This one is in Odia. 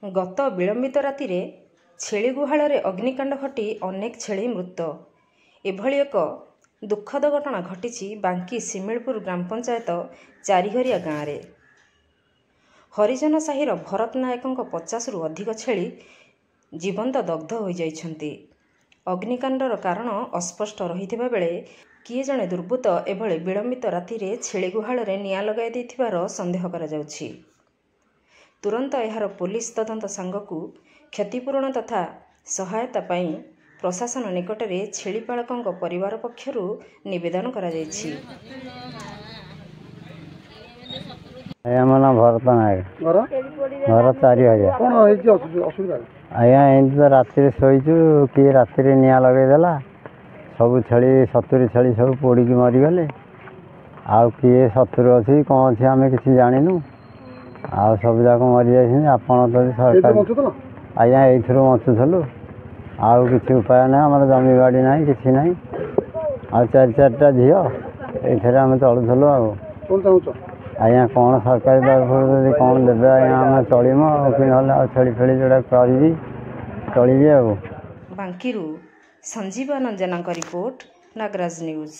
ଗତ ବିଳମ୍ବିତ ରାତିରେ ଛେଳି ଗୁହାଳରେ ଅଗ୍ନିକାଣ୍ଡ ଘଟି ଅନେକ ଛେଳି ମୃତ। ଏଭଳି ଏକ ଦୁଃଖଦ ଘଟଣା ଘଟିଛି ବାଙ୍କୀ ଶିମିଳିପୁର ଗ୍ରାମପଞ୍ଚାୟତ ଚାରିଘରିଆ ଗାଁରେ। ହରିଜନ ସାହିର ଭରତ ନାୟକଙ୍କ 50ରୁ ଅଧିକ ଛେଳି ଜୀବନ୍ତ ଦଗ୍ଧ ହୋଇଯାଇଛନ୍ତି। ଅଗ୍ନିକାଣ୍ଡର କାରଣ ଅସ୍ପଷ୍ଟ ରହିଥିବା ବେଳେ କିଏ ଜଣେ ଦୁର୍ବୃତ୍ତ ଏଭଳି ବିଳମ୍ବିତ ରାତିରେ ଛେଳି ଗୁହାଳରେ ନିଆଁ ଲଗାଇ ଦେଇଥିବାର ସନ୍ଦେହ କରାଯାଉଛି। ତୁରନ୍ତ ଏହାର ପୋଲିସ ତଦନ୍ତ ସାଙ୍ଗକୁ କ୍ଷତିପୂରଣ ତଥା ସହାୟତା ପାଇଁ ପ୍ରଶାସନ ନିକଟରେ ଛେଳିପାଳକଙ୍କ ପରିବାର ପକ୍ଷରୁ ନିବେଦନ କରାଯାଇଛି। ଆଜ୍ଞା, ମୋ ନାଁ ଭରତ ନାୟକ, ଘର 4000। କ'ଣ ହେଇଛି ଅସୁବିଧା? ଆଜ୍ଞା, ଏମିତି ତ ରାତିରେ ଶୋଇଛୁ, କିଏ ରାତିରେ ନିଆଁ ଲଗେଇଦେଲା। ସବୁ ଛେଳି, 70 ଛେଳି ସବୁ ପୋଡ଼ିକି ମରିଗଲେ। ଆଉ କିଏ ଶତ୍ରୁ ଅଛି କ'ଣ ଅଛି ଆମେ କିଛି ଜାଣିନୁ। ଆଉ ସବୁ ଯାକ ମରିଯାଇଛନ୍ତି। ଆପଣ ଯଦି ସରକାର, ଆଜ୍ଞା, ଏଇଥିରୁ ବଞ୍ଚୁଥିଲୁ, ଆଉ କିଛି ଉପାୟ ନାହିଁ। ଆମର ଜମି ବାଡ଼ି ନାହିଁ, କିଛି ନାହିଁ। ଆଉ 4 ଚାରିଟା ଝିଅ, ଏଇଥିରେ ଆମେ ଚଳୁଥିଲୁ। ଆଉ କ'ଣ ଚାହୁଁଛ ଆଜ୍ଞା? କ'ଣ ସରକାରୀ ତରଫରୁ ଯଦି କ'ଣ ଦେବେ ଆଜ୍ଞା, ଆମେ ଚଳିମୁ। ଆଉ କି ନହେଲେ ଆଉ ଛେଳି ଫେଳି ଯୋଉଟା କରିବି ଚଳିବି। ଆଉ ବାଙ୍କିରୁ ସଞ୍ଜୀବ ଆନନ୍ଦ ଜେନାଙ୍କ ରିପୋର୍ଟ, ନାଗରାଜ ନ୍ୟୁଜ୍।